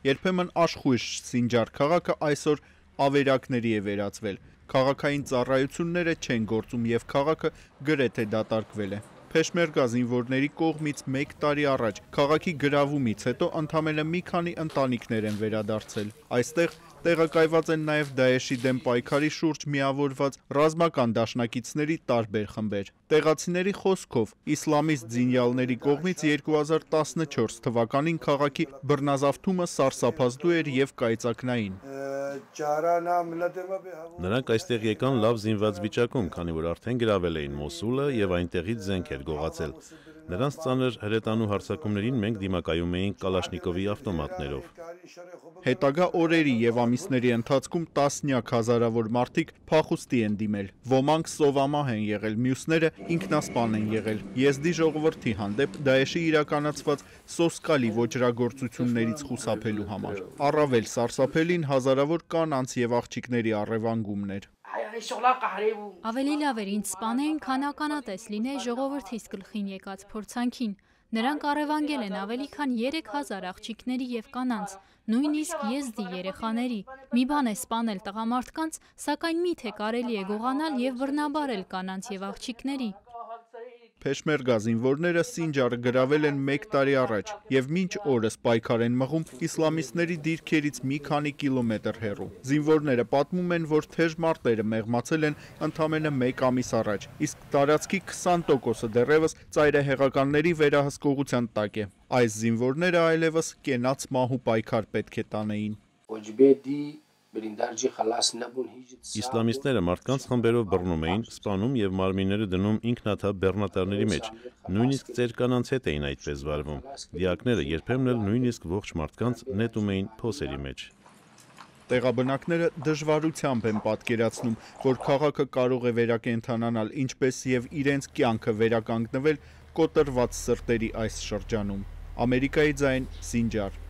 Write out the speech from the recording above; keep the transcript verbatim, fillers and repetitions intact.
Երբեմն աշխույժ Սինջար քաղաքը այսօր ավերակների է վերածվել։ Քաղաքային ծառայությունները չեն գործում եւ քաղաքը գրեթե դատարկվել է։ Փեշմերգա զինվորների կողմից մեկ տարի առաջ քաղաքի գրավումից հետո ընդամենը մի քանի ընտանիքներ են վերադարձել։ Այստեղ տեղակայված են նաև Դաեշի դեմ պայքարի շուրջ միավորված ռազմական դաշնակիցների տարբեր խմբեր։ Տեղացիների խոսքով իսլամիստ ձինյալների կողմից երկու հազար տասնչորս թվականին քաղաքի բռնազավթումը սարսափազդու էր եւ կայծակնային։ Նրանք այստեղ եկան լավ զինված վիճակում, քանի որ արդեն գրավել էին Մոսուլը եւ այնտեղից զենք էր գողացել։ Նրանց ծանր հրետանու հարձակումներին մենք դիմակայում էինք Կալաշնիկովի ավտոմատներով։ Հետագա օրերի եւ ամիսների ընթացքում տասնյակ հազարավոր մարդիկ փախուստի են դիմել։ Ոմանք սովամահ են եղել, մյուսները ինքնասպան են եղել։ Եզդի ժողովրդի հանդեպ Դաեշի իրականացված սոսկալի ոճրագործություններից խուսափելու համար։ Առավել սարսափելին հազարավոր կանանց եւ աղջիկների առևանգումն էր։ Ավելի լավ էր ինձ սպանեին, քան ականատես լինեի ժողովրդիս գլխին եկած փորձանքին։ Նրանք առևանգել են ավելի քան երեք հազար աղջիկների եւ կանանց, նույնիսկ եզդի երեխաների։ Մի բան է սպանել տղամարդկանց, սակայն միթե կարելի է գողանալ եւ բռնաբարել կանանց եւ աղջիկների։ Փեշմերգա զինվորները Սինջարը գրավել են մեկ տարի առաջ եւ մինչ օրս պայքար են մղում իսլամիստների դիրքերից մի քանի կիլոմետր հեռու։ Զինվորները պատմում են, որ թեժ մարտերը մեղմացել են ընդամենը մեկ ամիս առաջ, իսկ տարածքի քսան տոկոսը դեռևս ծայրահեղականների վերահսկողության տակ է։ Այս զինվորները այլևս կենաց մահու պայքար պետք է տանեին։ Իսլամիստները մարդկանց խմբերով բռնում էին, սպանում եւ մարմինները դնում ինքնաթափ բեռնատարների մեջ։ Նույնիսկ ծեր կանանց հետ էին այդպես վարվում։ Դիակները երբեմն էլ նույնիսկ ողջ մարդկանց նետում էին փոսերի մեջ։ Տեղաբնակները դժվարությամբ են պատկերացնում, որ քաղաքը կարող է վերակենդանանալ, ինչպես եւ իրենց կյանքը վերականգնվել կոտրված սրտերի այս շրջանում։ Ամերիկայի ձայն, Սինջար։